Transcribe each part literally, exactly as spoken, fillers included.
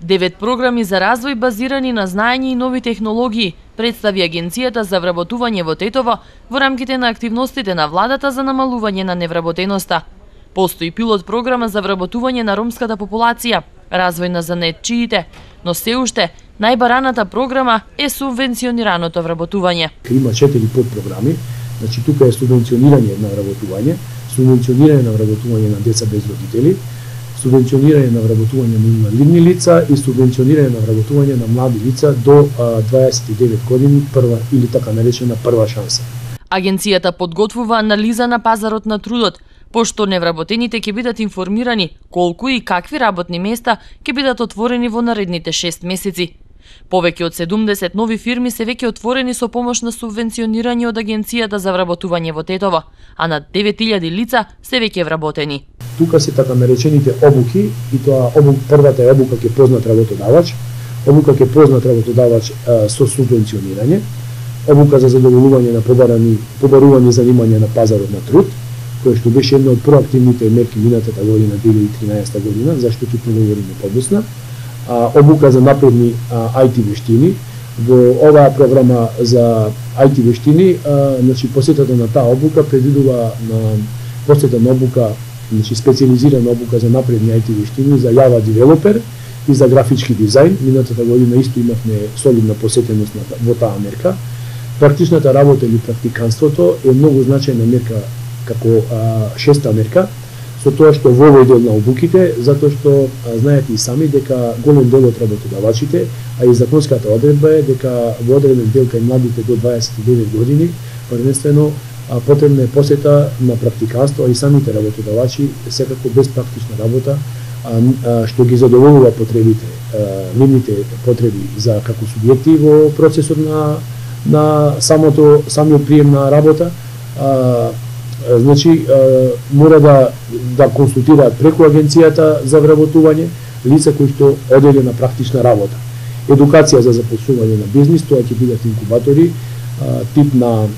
Девет програми за развој базирани на знаење и нови технологии представи Агенцијата за вработување во Тетово во рамките на активностите на владата за намалување на невработеноста. Постои пилот програма за вработување на ромската популација, развој на занаетчиите, но се уште најбараната програма е субвенционираното вработување. Има четири подпрограми, значи тука е субвенционирање на вработување, субвенционирање на вработување на деца без родители, субвенционирање на вработување на инвалидни лица и субвенционирање на вработување на млади лица до дваесет и девет години, прва или така наречена прва шанса. Агенцијата подготвува анализа на пазарот на трудот, пошто невработените ќе бидат информирани колку и какви работни места ќе бидат отворени во наредните шест месеци. Повеќе од седумдесет нови фирми се веќе отворени со помош на субвенционирање од Агенцијата за вработување во Тетово, а над девет илјади лица се веќе вработени. Тука се така наречените обуки, и тоа обук, првата е обука ке познат работодавач, обука ке познат работодавач а, со субвенционирање, обука за задоволување на побарани, побарувани занимања на пазарот на труд, кој што беше една од проактивните мерки минатата година, две илјади и тринаесетта година, зашто ќе проговориме подосна, а, обука за напредни а, ај ти вештини. Во оваа програма за ај ти вештини, а, значи посетата на таа обука предвидува на посета на обука, значи специализирана обука за напредни ај ти вештини за Java девелопер и за графички дизајн. Минатата година исто имавме солидна посетеност во таа мерка. Практичната работа или практиканството е многу значајна мерка како а, шеста мерка, со тоа што во овој дел на обуките, затоа што а, знаете и сами дека голем дел од работодавачите, а и законската одредба е дека во одреден дел кај младите до дваесет и девет години, првенствено а, потребна е посета на практиканство, а и самите работодавачи секако без практична работа, а, а, што ги задоволува потребите, а, нивните потреби за како субјекти во процесот на на самото самиот прием на работа. А, Значи, мора да, да консултираат преку Агенцијата за вработување лица кои што оделе на практична работа. Едукација за започнување на бизнис, тоа ќе бидат инкубатори, тип на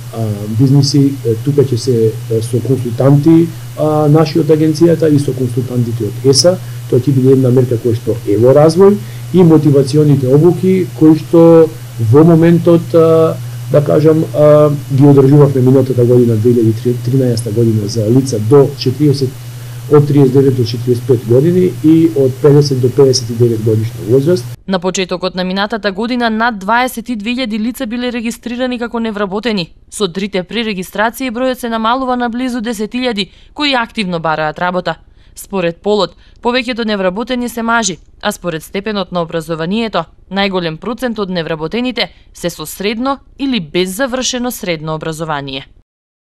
бизниси, тука ќе се со консултанти наши од Агенцијата и со консултантите од ЕСА, тоа ќе биде една мерка која што е во развој, и мотивационите обуки кои што во моментот да кажам, а, ги одржувавме минатата година, две илјади и тринаесетта година, за лица до четириесет, од триесет и девет до четириесет и пет години и од педесет до педесет и девет годишна возраст. На почетокот на минатата година над дваесет и две илјади лица биле регистрирани како невработени. Со трите пререгистрации бројот се намалува на близу десет илјади кои активно бараат работа. Според полот, повеќето невработени се мажи, а според степенот на образованието, најголем процент од невработените се со средно или без завршено средно образование.